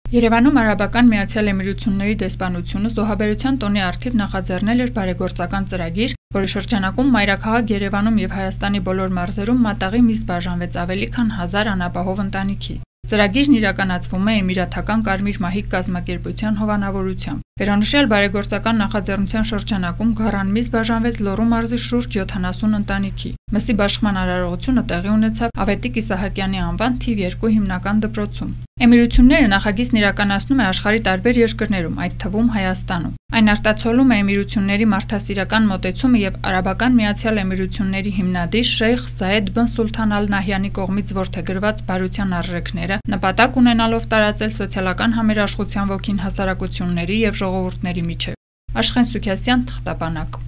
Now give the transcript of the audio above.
Երևանում Արաբական Միացյալ Էմիրությունների դեսպանությունը զոհաբերության տոնի առթիվ նախաձեռնել էր բարեգործական ծրագիր, որի շրջանակում մայրաքաղաք Երևանում եւ Հայաստանի բոլոր մարզերում մատաղի միս բաժանվեց ավելի քան 1000 անապահով ընտանիքի։ Ծրագիրն իրականացվում է Էմիրաթական Կարմիր մահիկ կազմակերպության հովանավորությամբ։ Վերանշյալ բարեգործական նախաձեռնության շրջանակում գառան միս բաժանվեց Լոռու մարզի շուրջ 70 ընտանիքի։ Մսի բաշխման արարողությունը տեղի ունեցավ Ավետիք Իսահակյանի անվան թիվ 2 հիմնական դպրոցում։ Էմիրությունները նախագիծն իրականացնում է աշխարհի տարբեր երկրներում, այդ թվում Հայաստանում։ Այն արտացոլում է էմիրությունների մարդասիրական մոտեցումը եւ Արաբական Միացյալ Էմիրությունների հիմնադիր Շեյխ Զայեդ բն Սուլթան Ալ Նահյանի կողմից որդեգրված բարության արժեքները, նպատակ ունենալով տարածել սոցիալական համերաշխության ոգին հասարակությունների եւ ժողովուրդների միջեւ։ Աշխեն Սուքասյան, Թղթապանակ։